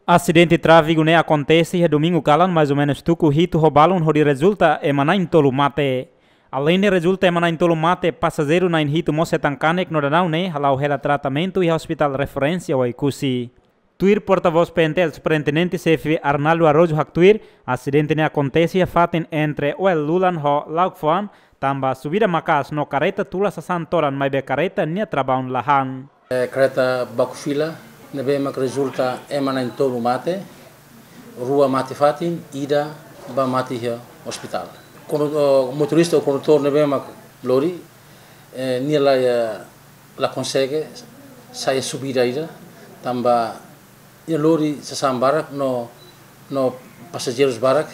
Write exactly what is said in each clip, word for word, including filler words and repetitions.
Asidente tráfegu ne'e akontese iha domingu kalan, mais ou menus tuku hitu ho balun, hodi rezulta ema na'in-tolu mate. Aleinde rezulta ema na'in-tolu mate, pasajeiru na'in-hitu mós hetan kanek no daudaun ne'e hala'o hela tratamentu iha Hospital Referénsia Oekusi. Tuir portavós P N T L Superintendente Xefe Arnaldo Araújo haktuir, asidente ne'e akontese iha fatin entre Oel Lulan ho Lauk Foan, tanba subida maka'as no karreta tula sasán todan, maibé karreta nia trabaun la han. Eh, karreta baku fila, ne'ebé mak rezulta ema na'in-tolu mate, rua mate fatin, ida ba mate iha ospitál. Kondu-, oh, motorista ou kondutór ne'ebé mak lori, eh, nia la, eh, la konsege sai subida ida, tanba nia lori sasán barak no, no pasajeirus barak.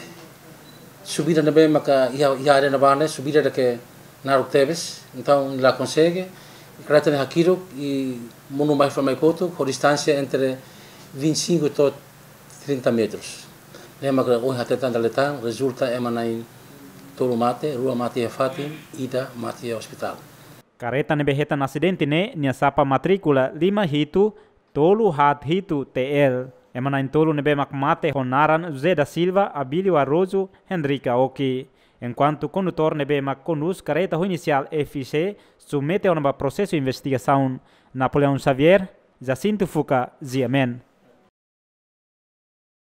Subida ne'ebé maka iha, iha área ne'ebá ne'e, subida ida ke naruk tebes. Entaun, la konsege. Karreta ne'e hakiruk i monu mai fali mai kotuk, ho distánsia entre vinte e cinco to'o trinta metros. Ne'e maka ohin hateten dala ida tan, rezulta ema na'in-tolu mate, rua mate iha fatin, ida mate iha ospitál. Karreta ne'ebé hetan asidente ne'e, nia sapa matríkula lima hitu tolu haat hitu T L. Ema na'in-tolu ne'ebé mak mate ho naran José da Silva, Abílio Araújo, Henrique Aoki. Enkuantu kondutór ne'ebé mak kondús karreta ho inisiál F C submete ona ba prosesu investigasaun. Napoleão Xavier, Jacinto Fuca, G M N.